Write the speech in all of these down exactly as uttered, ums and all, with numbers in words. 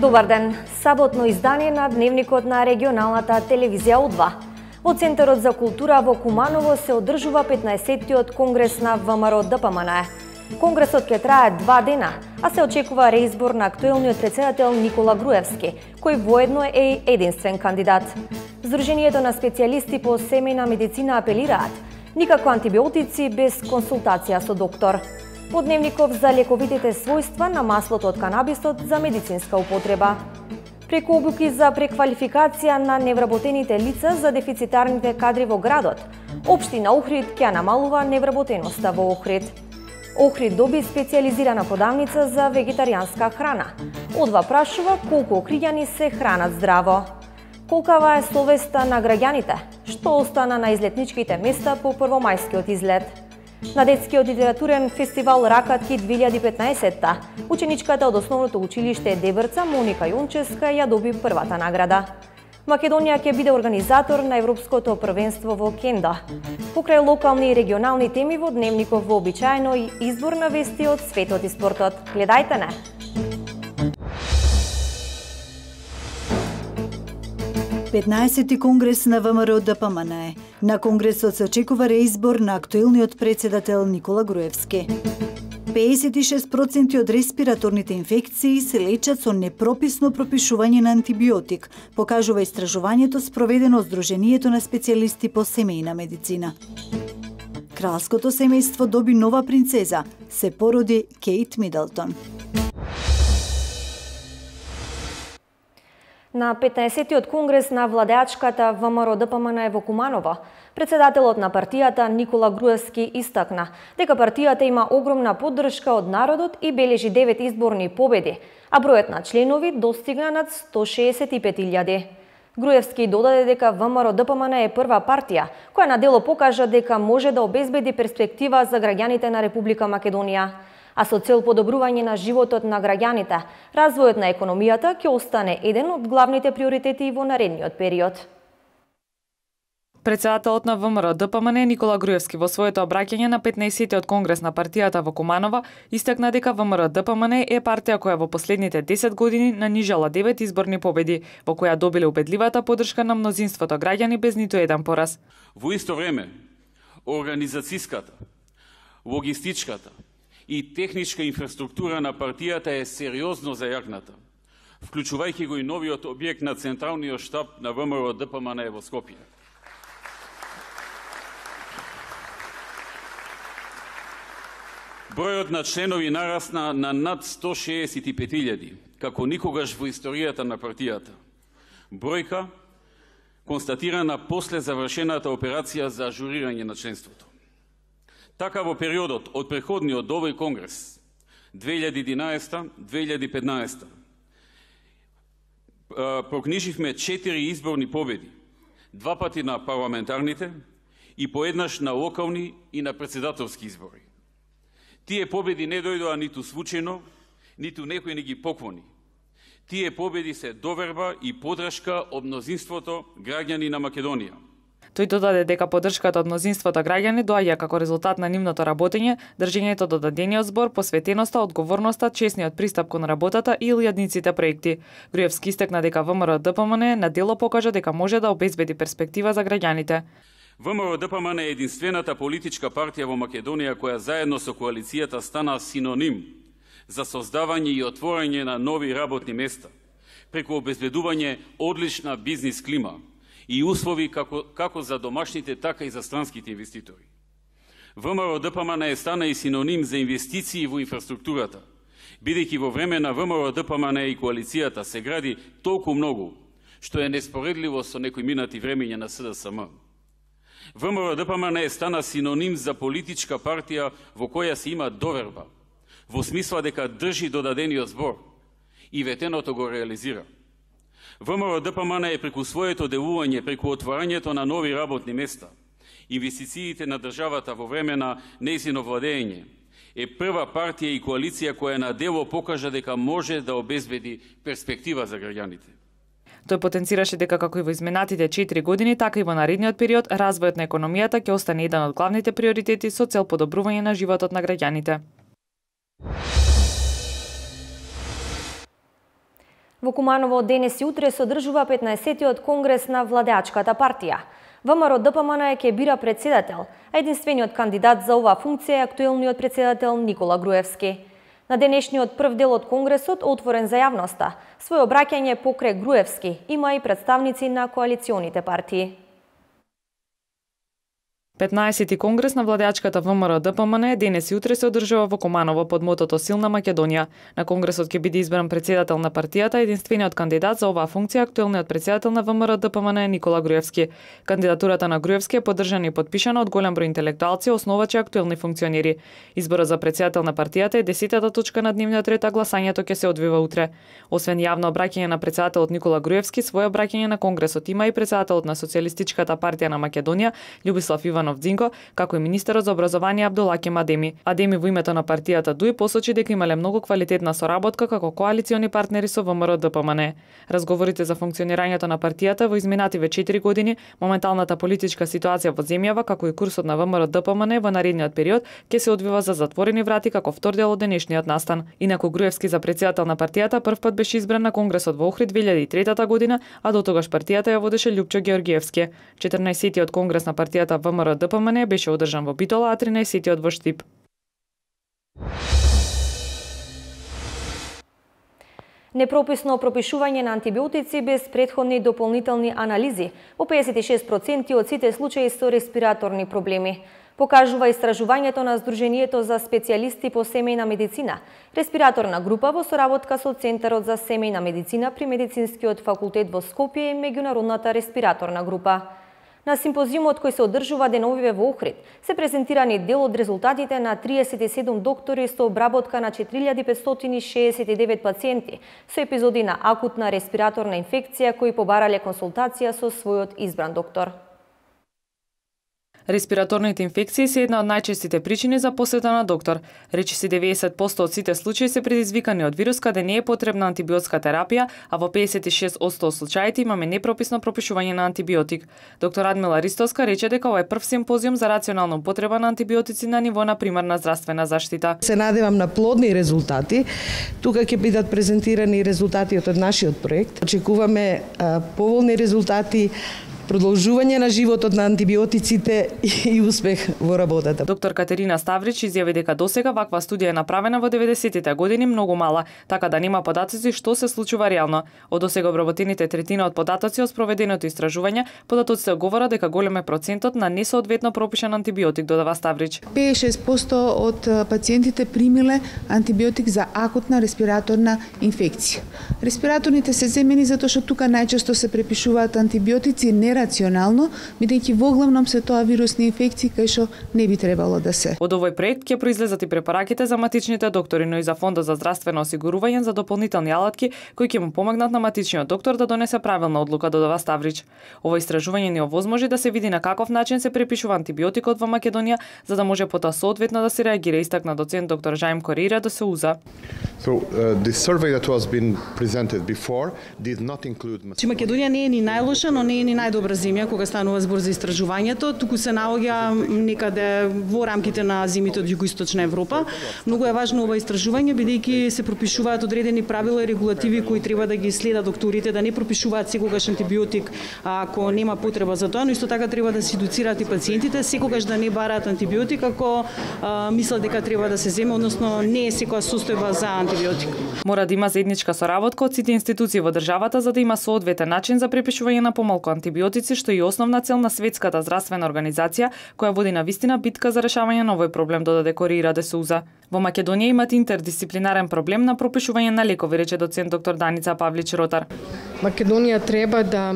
Добар ден. Саботно издание на Дневникот на регионалната телевизија У два. Во Центарот за култура во Куманово се одржува петнаесеттиот конгрес на ВМРО Д П М Н Е. Конгресот ќе трае два дена, а се очекува реизбор на актуелниот претседател Никола Груевски, кој воедно е единствен кандидат. Сдруженијето на специјалисти по семејна медицина апелираат: никако антибиотици без консултација со доктор. По Дневников за лековитите својства на маслото од канабисот за медицинска употреба. Преку обуки за преквалификација на невработените лица за дефицитарните кадри во градот, Општина Охрид ќе намалува невработеноста во Охрид. Охрид доби специјализирана продавница за вегетаријанска храна. Одва прашува колку охриѓани се хранат здраво. Колкава е совеста на граѓаните? Што остана на излетничките места по првомајскиот излет? На детскиот литературен фестивал Ракатки две илјади и петнаесетта, ученичката од основното училиште Дебрца Моника Јончевска ја доби првата награда. Македонија ќе биде организатор на Европското првенство во кендо. Покрај локални и регионални теми во Дневников вообичаено и избор на вести од светот и спортот. Гледајте не! петнаесети конгрес на ВМРО Д П М Н Е. На конгресот се очекува реизбор на актуелниот претседател Никола Груевски. пеесет и шест проценти од респираторните инфекции се лечат со непрописно пропишување на антибиотик, покажува истражувањето спроведено од Сдруженијето на специјалисти по семејна медицина. Кралското семејство доби нова принцеза, се породи Кейт Мидлтон. На петнаесеттиот конгрес на владеачката ВМРО Д П М Н Е во Куманово, претседателот на партијата Никола Груевски истакна дека партијата има огромна поддршка од народот и бележи девет изборни победи, а бројот на членови достигна над сто шеесет и пет илјади. Груевски додаде дека ВМРО Д П М Н Е е прва партија која на дело покажа дека може да обезбеди перспектива за граѓаните на Република Македонија. А со цел подобрување на животот на граѓаните, развојот на економијата ќе остане еден од главните приоритети во наредниот период. Претседателот на ВМРО Д П М Н Е Никола Груевски во своето обраќање на петнаесеттиот конгрес на партијата во Куманово истакна дека ВМРО Д П М Н Е е партија која во последните десет години нанижала девет изборни победи, во која добиле убедливата поддршка на мнозинството граѓани без ниту еден пораз. Во исто време, организацијската, логистичката и техничка инфраструктура на партијата е сериозно зајакната, вклучувајќи го и новиот објект на Централниот штаб на ВМРО Д П М Н Е во Скопје. Бројот на членови нарасна на над сто шеесет и пет илјади, како никогаш во историјата на партијата. Бројка констатирана после завршената операција за ажурирање на членството. Така во периодот од преходниот до овој конгрес две илјади и единаесетта - две илјади и петнаесетта прокниживме четири изборни победи, два пати на парламентарните и поеднаш на локални и на претседателски избори. Тие победи не дојдоа ниту случајно, ниту некој не ги поклони. Тие победи се доверба и подршка од мнозинството граѓани на Македонија. Тој додаде дека поддршката од мнозинството граѓани доаѓа како резултат на нивното работење, држењето до дадениот збор, посветеноста, одговорноста, честниот пристап кон работата и илјадниците проекти. Груевски истакна дека ВМРО Д П М Н Е на дело покажа дека може да обезбеди перспектива за граѓаните. ВМРО Д П М Н Е е единствената политичка партија во Македонија која заедно со коалицијата стана синоним за создавање и отворање на нови работни места, преку обезбедување одлична бизнис клима и услови како, како за домашните, така и за странските инвеститори. ВМРО Д П М Н Е стана и синоним за инвестиции во инфраструктурата, бидејќи во време на ВМРО Д П М Н Е и коалицијата се гради толку многу, што е неспоредливо со некои минати времења на С Д С М. ВМРО Д П М Н Е стана синоним за политичка партија во која се има доверба, во смисла дека држи до дадениот збор и ветеното го реализира. ВМРО Д П М Н Е преку своето делување, преку отварањето на нови работни места, инвестициите на државата во време на нејзино владење, е прва партија и коалиција која на дело покажа дека може да обезбеди перспектива за граѓаните. Тој потенцираше дека како и во изминатите четири години, така и во наредниот период, развојот на економијата ќе остане еден од главните приоритети со цел подобрување на животот на граѓаните. Во Куманово денес и утре се одржува петнаесеттиот конгрес на владеачката партија. ВМРО-ДПМН ќе бира председател, а единствениот кандидат за оваа функција е актуелниот председател Никола Груевски. На денешниот прв дел од конгресот, отворен за јавноста, свој обраќање покрај Груевски има и представници на коалиционите партии. петнаесети конгрес на владеачката ВМРО-ДПМН денес и утре се одржува во Куманово под мотото Силна Македонија. На конгресот ќе биде избран председател на партијата, единствениот кандидат за оваа функција актуелниот председател на ВМРО-ДПМН е Никола Груевски. Кандидатурата на Груевски е поддржана и подпишана од голем број интелектуалци, основачи и актуелни функционери. Изборот за председател на партијата е десетата точка на дневниот ред, а гласањето ќе се одвива утре. Освен јавно обраќање на председателот Никола Груевски, свој обраќање на конгресот има и председателот на Социјалистичката партија на Македонија Љубислав Иванов Дзинко, како и министерот за образование Абдулакем Адеми. Адеми во името на партијата ДУИ посочи дека имале многу квалитетна соработка како коалициони партнери со ВМРО-ДПМН. Разговорите за функционирањето на партијата во изминативе четири години, моменталната политичка ситуација во земјава, како и курсот на ВМРО-ДПМН во наредниот период ќе се одвива за затворени врати како втор дел од денешниот настан. Инаку Груевски за председател на партијата првпат беше избран на конгресот во Охрид две илјади и трета година, а до тогаш партијата ја водеше Љупчо Георгиевски. четрнаесеттиот конгрес на партијата ВМРО-ДПМН беше одржан во Битола, а тринаесеттиот во Штип. Непрописно пропишување на антибиотици без претходни дополнителни анализи во педесет и шест проценти од сите случаи со респираторни проблеми. Покажува истражувањето на Сдруженијето за специјалисти по семејна медицина, респираторна група во соработка со Центарот за семејна медицина при Медицинскиот факултет во Скопје и Меѓународната респираторна група. На симпозиумот кој се одржува деновиве во Охрид се презентирани дел од резултатите на триесет и седум доктори со обработка на четири илјади петстотини и шеесет и девет пациенти со епизоди на акутна респираторна инфекција кои побарале консултација со својот избран доктор. Респираторните инфекции се една од најчестите причини за посета на доктор. Речиси деветдесет проценти од сите случаи се предизвикани од вирус каде не е потребна антибиотска терапија, а во педесет и шест проценти од случаите имаме непрописно пропишување на антибиотик. Доктор Радмила Ристовска рече дека ова е прв симпозиум за рационална употреба на антибиотици на ниво на примарна здравствена заштита. Се надевам на плодни резултати. Тука ќе бидат презентирани резултатите од нашиот проект. Очекуваме а, поволни резултати, продолжување на животот на антибиотиците и успех во работата. Доктор Катерина Ставрич изјави дека досега ваква студија е направена во деветдесеттите години многу мала, така да нема податоци што се случува реално. Од досега обработените третина од податоци од спроведеното истражување, податоците говорат дека голем е процентот на несоодветно пропишан антибиотик, додава Ставрич. педесет и шест проценти од пациентите примиле антибиотик за акутна респираторна инфекција. Респираторните се земени затоа што тука најчесто се препишуваат антибиотици не рационално, бидејќи во главном се тоа вирусни инфекции кај што не би требало да се. Од овој проект ќе произлезат и препараките за матичните доктори, но и за Фондот за здравствено осигурување за дополнителни алатки кои ќе му помогнат на матичниот доктор да донесе правилна одлука, додава Ставрич. Ова истражување ни овозможи да се види на каков начин се препишува антибиотикот во Македонија, за да може потоа соодветно да се реагира, истакна доцент доктор Жаим Корира до Сеуза. So, uh, the survey that was been presented before did not include... Македонија не е ни најлоша, но не е ни најдобра земја кога станува збор за истражувањето, туку се наоѓа некаде во рамките на земјите од југоисточна Европа. Многу е важно ова истражување бидејќи се пропишуваат одредени правила и регулативи кои треба да ги следат докторите, да не пропишуваат секогаш антибиотик ако нема потреба за тоа, но исто така треба да се едуцираат и пациентите секогаш да не бараат антибиотик ако а, мислат дека треба да се земе, односно не е секоја состојба за антибиотик. Мора да има заедничка соработка од сите институции во државата за да има соодветен начин за препишување на помалку антибиотици, што е основна цел на Светската здравствена организација, која води на вистина битка за решавање на овој проблем, додаде Корира де Суза. Во Македонија имат интердисциплинарен проблем на пропишување на лекови, рече доцент доктор Даница Павлич Ротар. Македонија треба да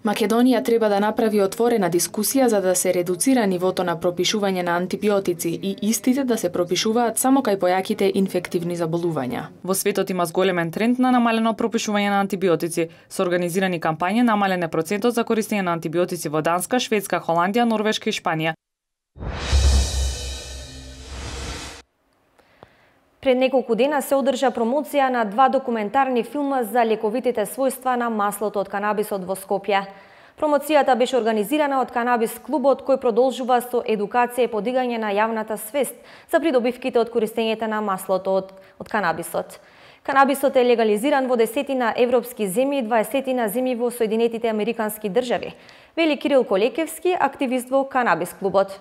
Македонија треба да направи отворена дискусија за да се редуцира нивото на пропишување на антибиотици и истите да се пропишуваат само кај појаките инфективни заболувања. Во светот има зголемен тренд на намалено пропишување на антибиотици. Со организирани кампањи намален е процентот за користење на антибиотици во Данска, Шведска, Холандија, Норвешка и Шпанија. Пред неколку дена се одржа промоција на два документарни филма за лековитите својства на маслото од канабисот во Скопје. Промоцијата беше организирана од Канабис клубот кој продолжува со едукација и подигање на јавната свест за придобивките од користењето на маслото од, од канабисот. Канабисот е легализиран во десетина европски земји и дваесетина земји во Соединетите Американски држави, вели Кирил Колекевски, активист во Канабис клубот.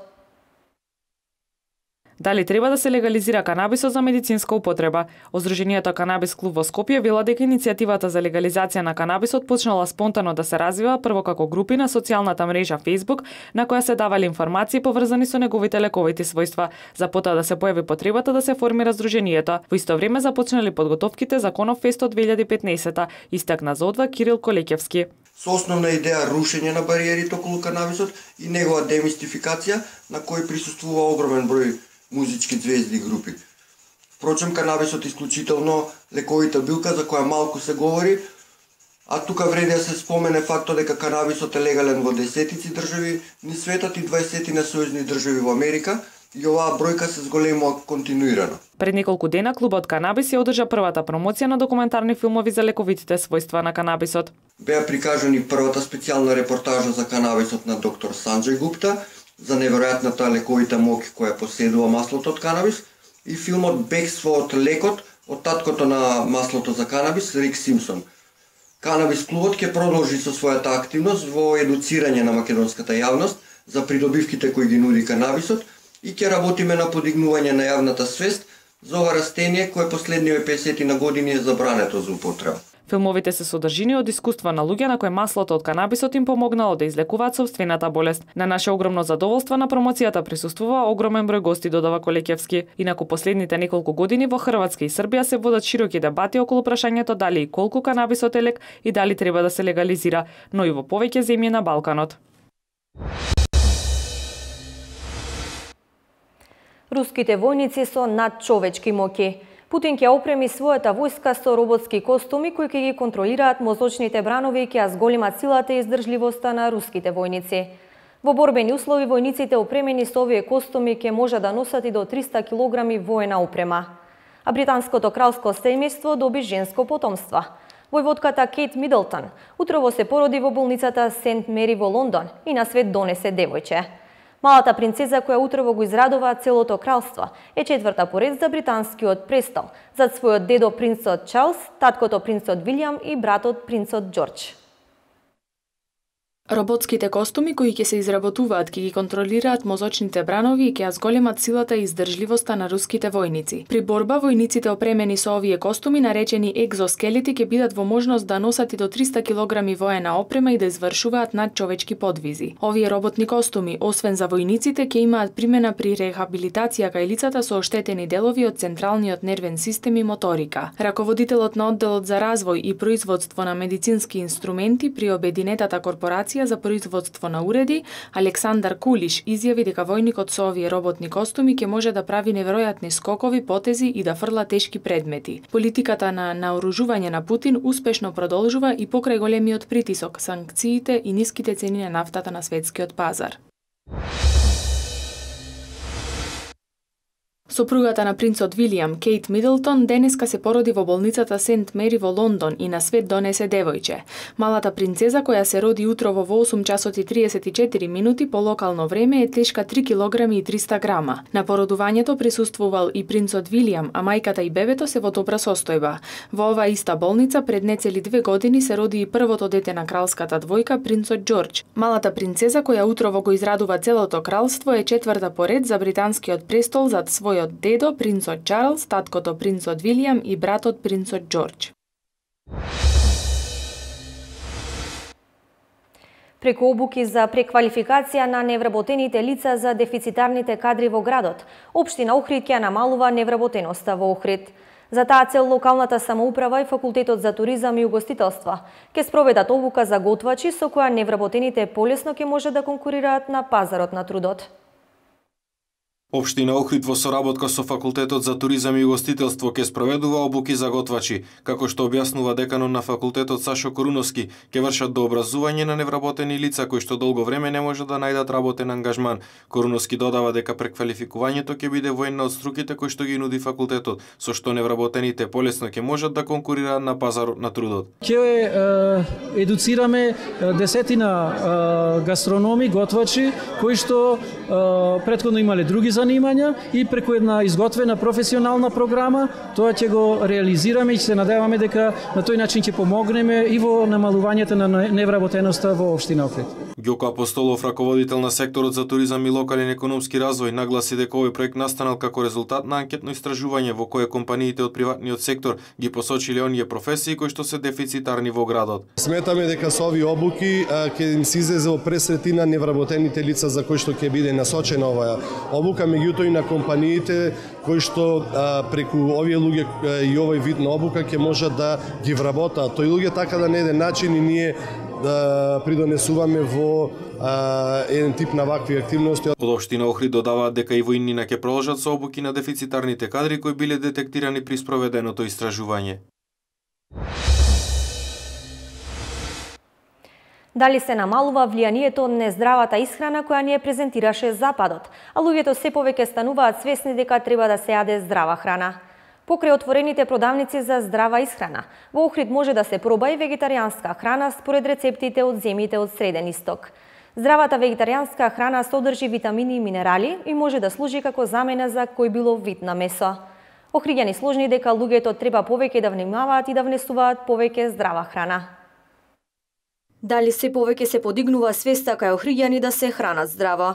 Дали треба да се легализира канабисот за медицинска употреба?Оздруженијето Канабис клуб во Скопје вела дека иницијативата за легализација на канабисот почнала спонтано да се развива прво како групи на социјалната мрежа Facebook, на која се давале информации поврзани со неговите лековити својства, за потоа да се појави потребата да се формира здруженијето. Во исто време започнале подготовките за Конов фест од две илјади и петнаесета, истакна за одва Кирил Колекевски. Со основна идеја рушење на бариерите околу канабисот и негова демистификација, на кој присуствува огромен број музички звезди и групи. Впрочем, канабисот е исклучително лековита билка за која малку се говори, а тука вреди да се спомене фактот дека канабисот е легален во десетици држави низ светот и дваесетина сојузни држави во Америка, и оваа бројка се зголемува континуирано. Пред неколку дена клубот Канабис ја одржа првата промоција на документарни филмови за лековитите својства на канабисот. Беа прикажани првата специјална репортажа за канабисот на доктор Санџај Гупта, за неверојатната лековита моќ која поседува маслото од канабис, и филмот Бегство од лекот од таткото на маслото за канабис, Рик Симпсон. Канабис клубот ќе продолжи со својата активност во едуцирање на македонската јавност за придобивките кои ги нуди канабисот и ќе работиме на подигнување на јавната свест за ова растение кое последниве песетина години е забрането за употреба. Филмовите се содржини од искуства на луѓе на кои маслото од канабисот им помогнало да излекуваат собствената болест. На наше огромно задоволство на промоцијата присуствува огромен број гости, додава Колекевски. Инаку последните неколку години во Хрватска и Србија се водат широки дебати околу прашањето дали и колку канабисот е лек и дали треба да се легализира, но и во повеќе земји на Балканот. Руските војници со надчовечки моќи. Путин ќе опреми својата војска со роботски костуми кои ќе ги контролираат мозочните бранови и ќе ја зголемат силата и издржливоста на руските војници. Во борбени услови војниците опремени со овие костуми ќе може да носат и до триста килограми воена опрема. А британското кралско семејство доби женско потомство. Војводката Кейт Мидлтон утрово се породи во болницата Сент Мери во Лондон и на свет донесе девојче. Малата принцеза која утрово го израдува целото кралство е четврта по ред за британскиот престол, зад својот дедо принцот Чарлс, таткото принцот Вилјам и братот принцот Џорџ. Роботските костуми кои ќе се изработуваат ќе ги контролираат мозочните бранови и ќе ја зголемат силата и издржливоста на руските војници. При борба војниците опремени со овие костуми наречени екзоскелети ќе бидат во можност да носат и до триста килограми воена опрема и да извршуваат надчовечки подвизи. Овие роботни костуми, освен за војниците, ќе имаат примена при рехабилитација кај лицата со оштетени делови од централниот нервен систем и моторика. Раководителот на одделот за развој и производство на медицински инструменти при обединетата корпорација за производство на уреди, Александар Кулиш, изјави дека војникот со овие роботни костуми ќе може да прави неверојатни скокови, потези и да фрла тешки предмети. Политиката на наоружување на Путин успешно продолжува и покрај големиот притисок, санкциите и ниските цени на нафтата на светскиот пазар. Сопругата на принцот Вилијам, Кейт Мидлтон, денеска се породи во болницата Сент Мери во Лондон и на свет донесе девојче. Малата принцеза, која се роди утрово во осум часот и триесет и четири минути по локално време, е тешка три килограми и триста грама. На породувањето присуствувал и принцот Вилијам, а мајката и бебето се во добра состојба. Во оваа иста болница пред нецели две години се роди и првото дете на кралската двојка, принцот Џорџ. Малата принцеза, која утрово го израдува целото кралство, е четврта по ред за британскиот престол зад свој од дедо принцот Чарлс, таткото принцот Вилијам и братот принцот Џорџ. Преку обуки за преквалификација на невработените лица за дефицитарните кадри во градот, општина Охрид ќе намалува невработеноста во Охрид. За таа цел локалната самоуправа и факултетот за туризам и угостителство ќе спроведат обука за готвачи со која невработените полесно ќе може да конкурираат на пазарот на трудот. Општина Охрид во соработка со факултетот за туризам и угостителство ќе спроведува обуки за готвачи, како што објаснува деканот на факултетот Сашо Коруновски, ќе вршат дообразување на невработени лица кои што долго време не може да најдат работен ангажман. Коруновски додава дека преквалификувањето ќе биде во една од струките кои што ги нуди факултетот, со што невработените полесно ќе можат да конкурираат на пазарот на трудот. Ќе едуцираме десетина гастрономи, готвачи кои што претходно имале други занимања и преку една изготвена професионална програма тоа ќе го реализираме и ќе се надеваме дека на тој начин ќе помогнеме и во намалувањето на невработеноста во општина Охрид. Ѓоко Апостолов, раководител на секторот за туризам и локален економски развој, нагласи дека овој проект настанал како резултат на анкетно истражување во кое компаниите од приватниот сектор ги посочиле оние професии кои што се дефицитарни во градот. Сметаме дека со овие обуки ќе им се излезе во пресретина невработените лица за кои што ќе биде насочена оваа обука, меѓутоа и на компаниите кои што а, преку овие луѓе и овој вид на обука ќе можат да ги вработаат тој луѓе, така да на еден начин и ние да придонесуваме во а, еден тип на вакви активности. Од општина Охрид додаваат дека и во иднина ќе продолжат со обуки на дефицитарните кадри кои биле детектирани при спроведеното истражување. Дали се намалува влијанието на нездравата исхрана која ни ја презентираше Западот, а луѓето се повеќе стануваат свесни дека треба да се јаде здрава храна. Покрај отворените продавници за здрава исхрана, во Охрид може да се проба и вегетаријанска храна според рецептите од земјите од Среден Исток. Здравата вегетаријанска храна содржи витамини и минерали и може да служи како замена за кој било вид на месо. Охриѓани сложни дека луѓето треба повеќе да внимаваат и да внесуваат повеќе здрава храна. Дали се повеќе се подигнува свеста кај охриѓани да се хранат здраво?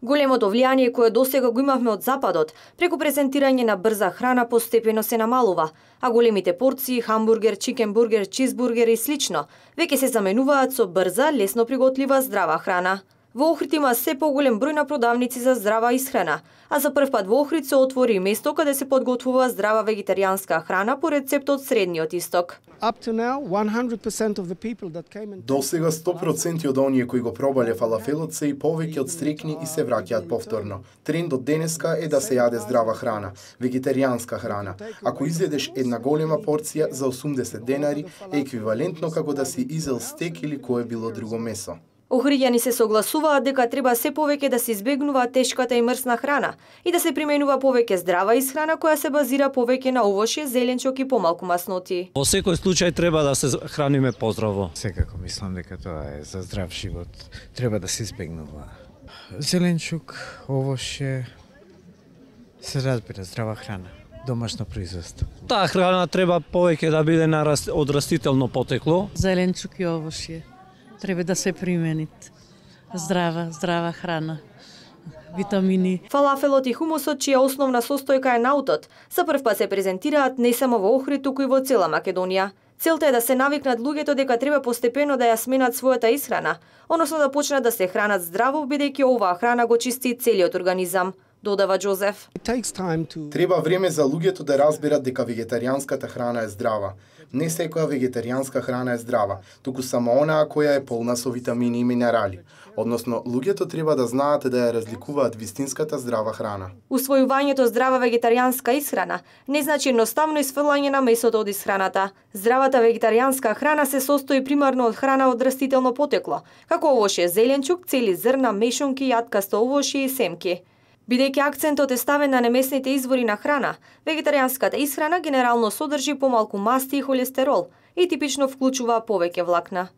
Големото влијание кое досега го имавме од Западот, преку презентирање на брза храна постепено се намалува, а големите порции, хамбургер, чикенбургер, чизбургер и слично, веќе се заменуваат со брза, лесно приготлива здрава храна. Во Охрид има се поголем број на продавници за здрава исхрана, а за прв пат во Охрид се отвори место каде се подготвува здрава вегетаријанска храна по рецепт од Средниот Исток. До сега сто проценти од оние кои го пробале фалафелот се и повеќе од стрекни и се враќаат повторно. Трендот денеска е да се јаде здрава храна, вегетаријанска храна. Ако изедеш една голема порција за осумдесет денари, е еквивалентно како да си изел стек или кое било друго месо. Охриѓани се согласуваат дека треба се повеќе да се избегнува тешката и мрсна храна и да се применува повеќе здрава исхрана која се базира повеќе на овошје, зеленчук и помалку масноти. Во секој случај треба да се храниме поздраво. Секако мислам дека тоа е за здрав живот. Треба да се избегнува зеленчук, овошје, се разбира здрава храна. Домашно производство. Таа храна треба повеќе да биде на раст... од растително потекло. Зеленчук и овошје треба да се применит. Здрава, здрава храна. Витамини. Фалафелот и хумусот, чија основна состојка е наутот, за прв пат се презентираат не само во Охрид, туку и во цела Македонија. Целта е да се навикнат луѓето дека треба постепено да ја сменат својата исхрана, односно да почнат да се хранат здраво, бидејќи оваа храна го чисти целиот организам, додава Џозеф. Треба време за луѓето да разберат дека вегетаријанската храна е здрава. Не секоја вегетаријанска храна е здрава, туку само онаа која е полна со витамини и минерали. Односно, луѓето треба да знаат да ја разликуваат вистинската здрава храна. Усвојувањето здрава вегетаријанска исхрана не значи едноставно исфрлање на месото од исхраната. Здравата вегетаријанска храна се состои примарно од храна од растително потекло, како овошје, зеленчук, цели зрна, мешунки, јаткасто овошје и семки. Бидејќи акцентот е ставен на немесните извори на храна, вегетаријанската исхрана генерално содржи помалку масти и холестерол и типично вклучува повеќе влакна.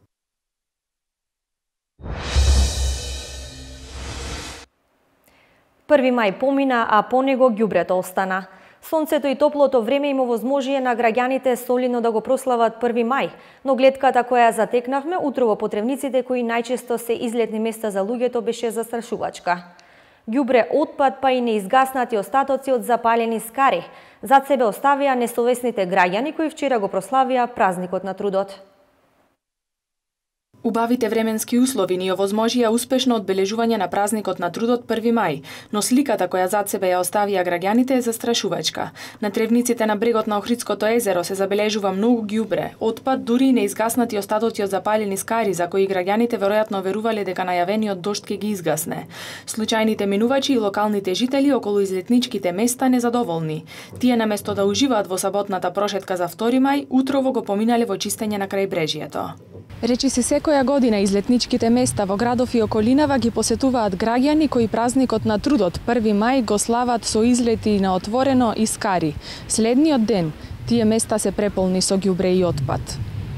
Први мај помина, а по него ѓубрето остана. Сонцето и топлото време им овозможија на граѓаните солидно да го прослават први мај, но гледката која затекнавме утро во потребниците кои најчесто се излетни места за луѓето беше застрашувачка. Ѓубре, отпад, па и неизгаснати остатоци од запалени скари зад себе оставија несовесните граѓани кои вчера го прославија празникот на трудот. Убавите временски услови ни овозможија успешно одбележување на празникот на трудот први мај, но сликата која зад себе ја оставија граѓаните е застрашувачка. На тревниците на брегот на Охридското езеро се забележува многу ѓубре, отпад, дури и неизгаснати остатоци од запалени скари за кои граѓаните веројатно верувале дека најавениот дожд ќе ги изгасне. Случајните минувачи и локалните жители околу излетничките места незадоволни. Тие наместо да уживаат во саботната прошетка за втори мај, утрово го поминале во чистење на крајбрежјето. Речи се секоја година излетничките места во градов и околинава ги посетуваат граѓани кои празникот на трудот први мај го слават со излети на отворено и скари. Следниот ден тие места се преполни со ѓубре и отпад.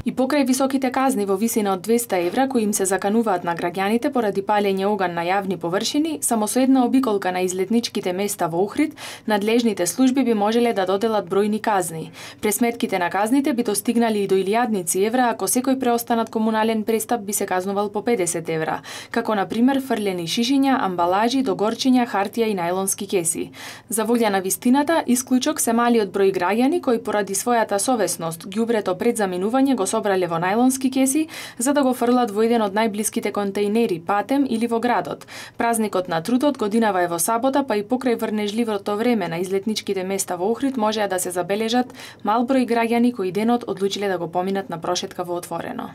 И покрај високите казни во висина од двесте евра кои им се закануваат на граѓаните поради палење оган на јавни површини, само со една обиколка на излетничките места во Охрид, надлежните служби би можеле да доделат бројни казни. Пресметките на казните би достигнали и до илјадници евра ако секој преостанат комунален престап би се казнувал по педесет евра, како на пример фрлени шишиња, амбалажи, догорчиња, хартија и најлонски кеси. За волја на вистината, исклучок се малиот број граѓани кои поради својата совесност ѓубрето пред заминување го собрале во најлонски кеси за да го фрлат во еден од најблиските контејнери, Патем или во градот. Празникот на трудот годинава е во сабота, па и покрај врнежливото време на излетничките места во Охрид можеа да се забележат мал број граѓани кои денот одлучиле да го поминат на прошетка во отворено.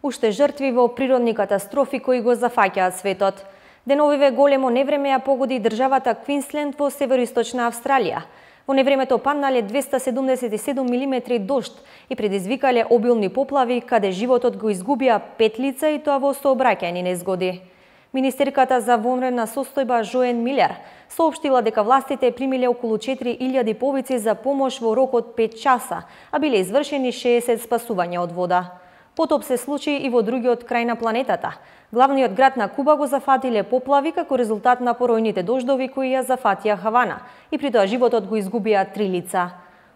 Уште жртви во природни катастрофи кои го зафаќаат светот. Деновиве големо невреме ја погоди државата Квинсленд во североисточна Австралија. Во невремето паднале двесте седумдесет и седум милиметри дожд и предизвикале обилни поплави, каде животот го изгубија пет лица и тоа во сообраќајни незгоди. Министерката за вонредна состојба Жоен Милер соопштила дека властите примиле околу четири илјади повици за помош во рок од пет часа, а биле извршени шеесет спасувања од вода. Потоп се случи и во другиот крај на планетата. Главниот град на Куба го зафатиле поплави како резултат на поројните дождови кои ја зафатија Хавана и при тоа животот го изгубија три лица.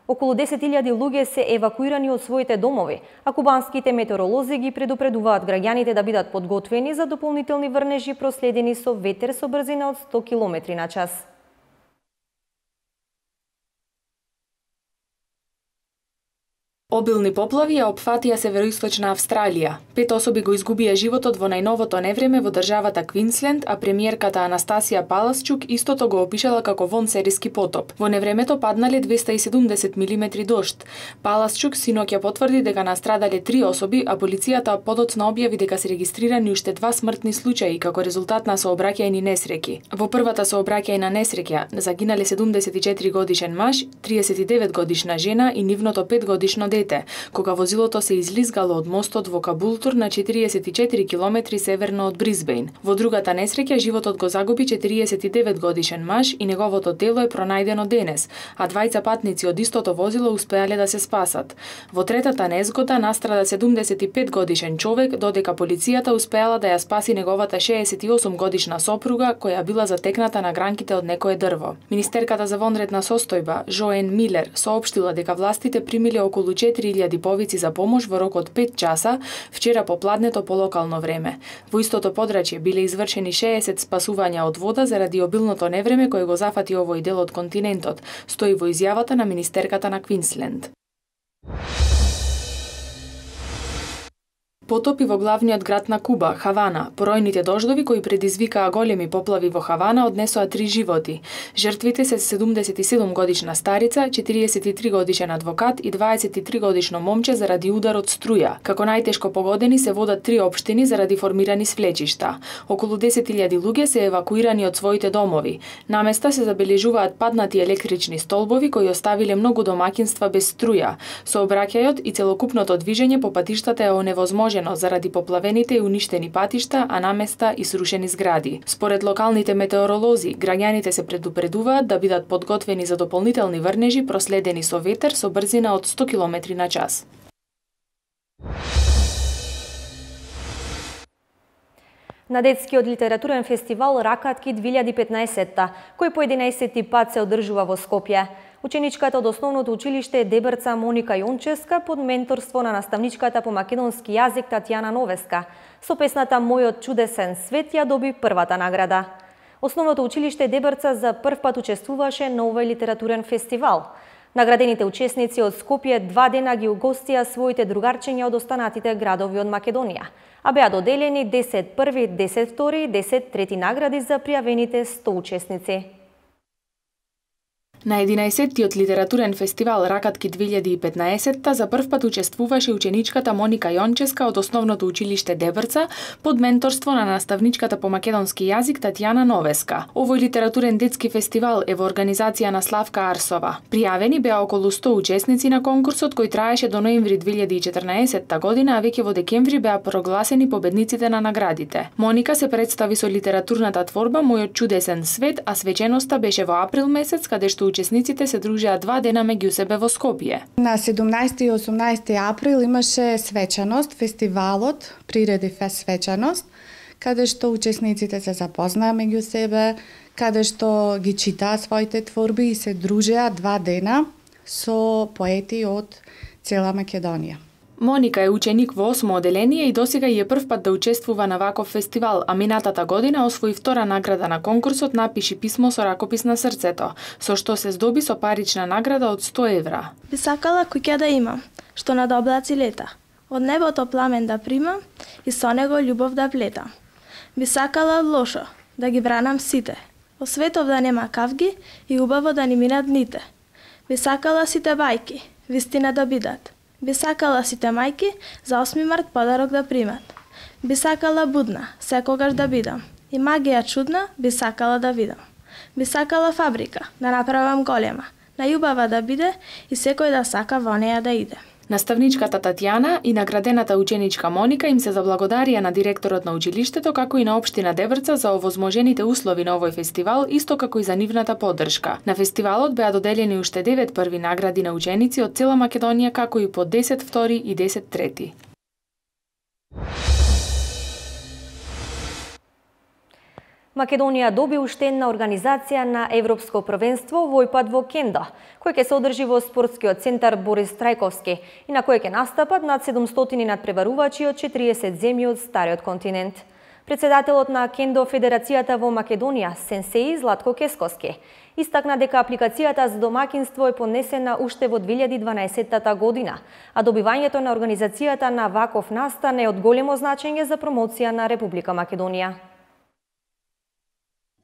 Околу десет илјади луѓе се евакуирани од своите домови, а кубанските метеоролози ги предупредуваат граѓаните да бидат подготвени за дополнителни врнежи проследени со ветер со брзина од сто километри на час. Обилни поплави ја опфатија североисточна Австралија. Пет особи го изгубија животот во најновото невреме во државата Квинсленд, а премиерката Анастасија Паласчук истото го опишала како вонсериски потоп. Во невремето паднале двесте и седумдесет милиметри дожд. Паласчук синоќа потврди дека настрадале три особи, а полицијата подоцна објави дека се регистрирани уште два смртни случаи како резултат на сообраќајни несреќи. Во првата сообраќајна несреќа загинале седумдесет и четири годишен маж, триесет и девет годишна жена и нивното пет годишно дете, кога возилото се излизгало од мостот во Кабултур на четириесет и четири километри северно од Брисбејн. Во другата несреќа животот го загуби четириесет и девет годишен маж и неговото тело е пронајдено денес, а двајца патници од истото возило успеале да се спасат. Во третата незгода настрада седумдесет и пет годишен човек, додека полицијата успеала да ја спаси неговата шеесет и осум годишна сопруга која била затекната на гранките од некое дрво. Министерката за вонредна состојба Жоен Милер соопштила дека властите примиле околу четири илјади повици за помош во рок од пет часа вчера попладнето по локално време. Во истото подрачје биле извршени шеесет спасувања од вода заради обилното невреме кое го зафати овој дел од континентот, стои во изјавата на министерката на Квинсленд. Потопи во главниот град на Куба, Хавана. Поројните дождови кои предизвикаа големи поплави во Хавана однесоа три животи. Жртвите се седумдесет и седум годишна старица, четириесет и три годишен адвокат и дваесет и три годишно момче заради удар од струја. Како најтешко погодени се водат три општини заради формирани свлечишта. Околу десет илјади луѓе се евакуирани од своите домови. На места се забележуваат паднати електрични столбови кои оставиле многу домаќинства без струја. Сообраќајот и целокупното движење по патиштата е оневозможено заради поплавените и уништени патишта, а наместа и срушени згради. Според локалните метеоролози, граѓаните се предупредуваат да бидат подготвени за дополнителни врнежи проследени со ветер со брзина од сто километри на час. На детскиот литературен фестивал Ракатки две илјади и петнаесетта, кој по единаесети пат се одржува во Скопје. Ученичката од основното училиште Дебрца Моника Јонческа под менторство на наставничката по македонски јазик Татјана Новеска со песната Мојот чудесен свет ја доби првата награда. Основното училиште Дебрца за прв пат учествуваше на овој литературен фестивал. Наградените учесници од Скопје два дена ги угостија своите другарчиња од останатите градови од Македонија, а беа доделени десет први, десет втори и десет трети награди за пријавените сто учесници. На единаесеттиот литературен фестивал Ракатки две илјади и петнаесетта за прв пат учествуваше ученичката Моника Јонческа од основното училиште Дебрца под менторство на наставничката по македонски јазик Татјана Новеска. Овој литературен детски фестивал е во организација на Славка Арсова. Пријавени беа околу сто учесници на конкурсот кој траеше до ноември две илјади и четрнаесетта година, а веќе во декември беа прогласени победниците на наградите. Моника се представи со литературната творба Мојот чудесен свет, а свеченоста беше во април месец, каде што учесниците се дружеа два дена меѓу себе во Скопје. На седумнаесети и осумнаесети април имаше свечаност, фестивалот Приреди фест свечаност, каде што учесниците се запознаа меѓу себе, каде што ги читаа своите творби и се дружеа два дена со поети од цела Македонија. Моника е ученик во осмо оделение и досега е прв пат да учествува на ваков фестивал, а минатата година освои втора награда на конкурсот Напиши писмо со ракопис на срцето, со што се здоби со парична награда од сто евра. Би сакала куќа да имам, што над облаци лета, од небото пламен да примам и со него љубов да плетам. Би сакала лошо, да ги бранам сите, во светов да нема кавги и убаво да ни минат дните. Би сакала сите бајки, вистина да бидат. Би сакала сите мајки за осми март подарок да примат. Би сакала будна, секогаш да бидам. И магија чудна би сакала да видам. Би сакала фабрика, да направам голема, најубава да биде и секој да сака во неја да иде. Наставничката Татјана и наградената ученичка Моника им се заблагодарија на директорот на училиштето, како и на општина Дебрца за овозможените услови на овој фестивал, исто како и за нивната поддршка. На фестивалот беа доделени уште девет први награди на ученици од цела Македонија, како и по десет втори и десет трети. Македонија доби уште една организација на Европско првенство во пат во Кендо, кој ќе се одржи во спортскиот центар Борис Трајковски и на кој ќе настапат над седумстотини надпреварувачи од четириесет земји од стариот континент. Председателот на Кендо Федерацијата во Македонија, сенсеј Златко Кескоски, истакна дека апликацијата за домакинство е поднесена уште во две илјади и дванаесетта година, а добивањето на организацијата на ваков настан е од големо значење за промоција на Република Македонија.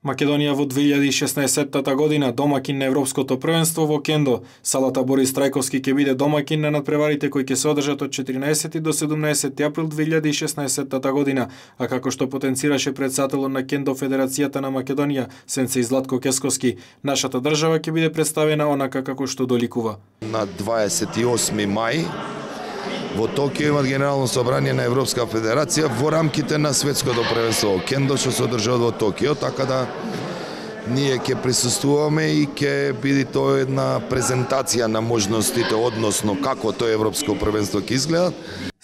Македонија во две илјади и шеснаесетта година домакин на Европското првенство во Кендо. Салата Борис Трајковски ќе биде домакин на надпреварите кои ќе се одржат од четиринаесети до седумнаесети април две илјади и шеснаесетта година, а како што потенцираше председателот на Кендо Федерацијата на Македонија, сенсеј Златко Кескоски, нашата држава ќе биде представена онака како што доликува. На дваесет и осми мај во Токио имат Генерално собрание на Европска федерација во рамките на светското првенство Кендо што се одржува во Токио, така да ние ќе присуствуваме и ќе биде тоа една презентација на можностите, односно како тоа Европско првенство ќе изгледа.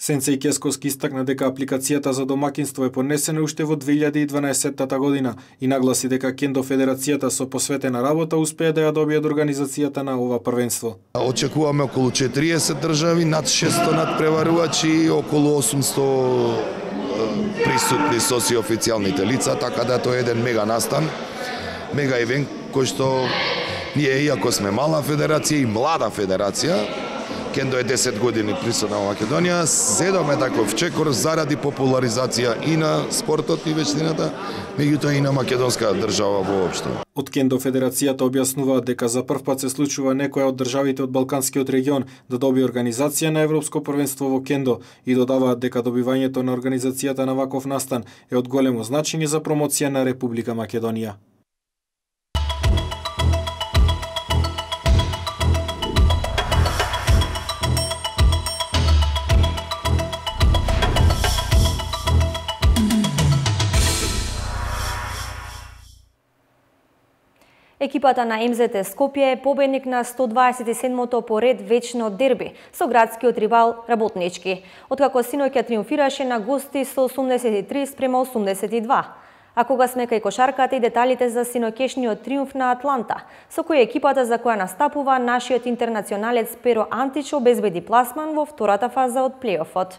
Сенсеј Кескоски истакна дека апликацијата за домакинство е поднесена уште во две илјади и дванаесетта година и нагласи дека Кендо Федерацијата со посветена работа успее да ја добие од организацијата на ова првенство. Очекуваме околу четириесет држави, над шестsto надпреварувачи и околу осумсто присутни социјофицијалните лица, така да тоа е еден мега настан, мега ивент кој што ние, иако сме мала федерација и млада федерација, Кендо е десет години присутна во Македонија, зедоме таков чекор заради популаризација и на спортот и вештината, меѓутоа и на македонска држава воопшто. Од Кендо Федерацијата објаснуваат дека за прв пат се случува некоја од државите од Балканскиот регион да добие организација на Европско првенство во Кендо и додаваат дека добивањето на организацијата на ваков настан е од големо значење за промоција на Република Македонија. Екипата на Ем Зет Е Скопје е победник на сто дваесет и седмото поред вечно дерби со градскиот ривал Работнички, откако синоќа триумфираше на гости со осумдесет и три спрема осумдесет и два. А кога сме кај кошарката и деталите за синоќешниот триумф на Атланта, со кој екипата за која настапува нашиот интернационалец Перо Антич обезбеди пласман во втората фаза од плейофот.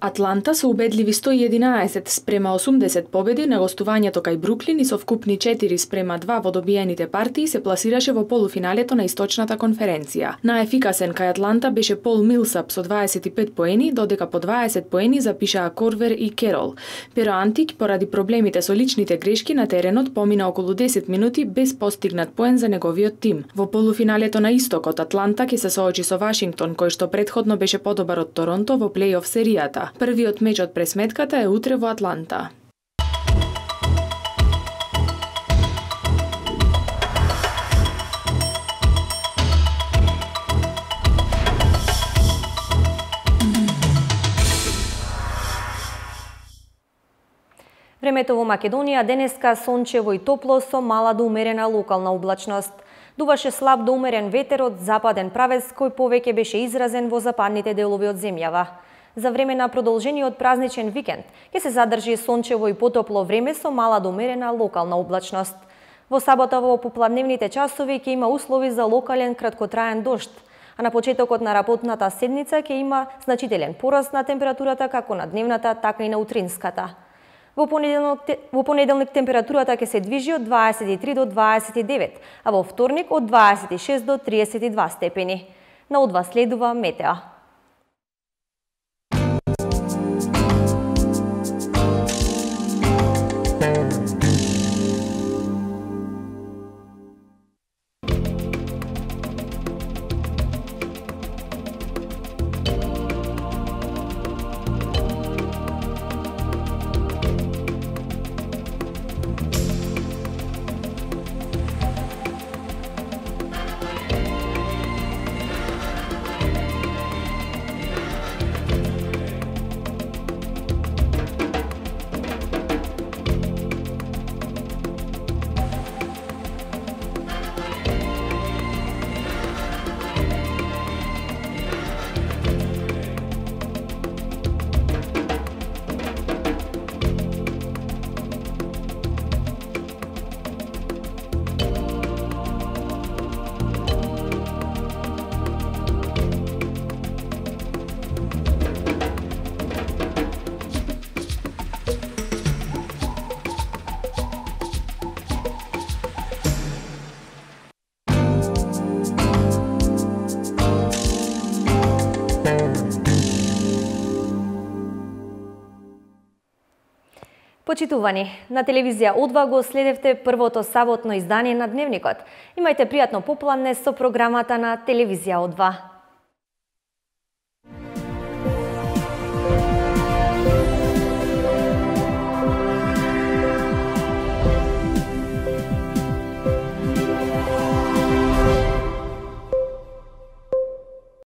Атланта со убедливи сто и единаесет спрема осумдесет победи на гостувањето кај Бруклин и со вкупни четири спрема два во добиените партии се пласираше во полуфиналето на Источната конференција. Наефикасен кај Атланта беше Пол Милсап со дваесет и пет поени, додека по дваесет поени запишаа Корвер и Керол. Перо Антик, поради проблемите со личните грешки на теренот, помина околу десет минути без постигнат поен за неговиот тим. Во полуфиналето на Истокот, Атланта ќе се соочи со Вашингтон, кој што претходно беше подобар од Торонто во плейоф серијата. Првиот меч од пресметката е утре во Атланта. Времето во Македонија денеска сончево и топло со мала до умерена локална облачност. Дуваше слаб до умерен ветер од западен правец кој повеќе беше изразен во западните делови од земјава. За време на продолжениот празничен викенд ќе се задржи сончево и потопло време со мала до умерена локална облачност. Во сабота во попладневните часови ќе има услови за локален краткотраен дожд, а на почетокот на работната седница ќе има значителен пораст на температурата како на дневната, така и на утринската. Во понеделник, во понеделник температурата ќе се движи од дваесет и три до дваесет и девет, а во вторник од дваесет и шест до триесет и два степени. На одва следува метео. Почитувани, на телевизија О два го следевте првото саботно издание на Дневникот. Имајте пријатно попладне со програмата на телевизија О два.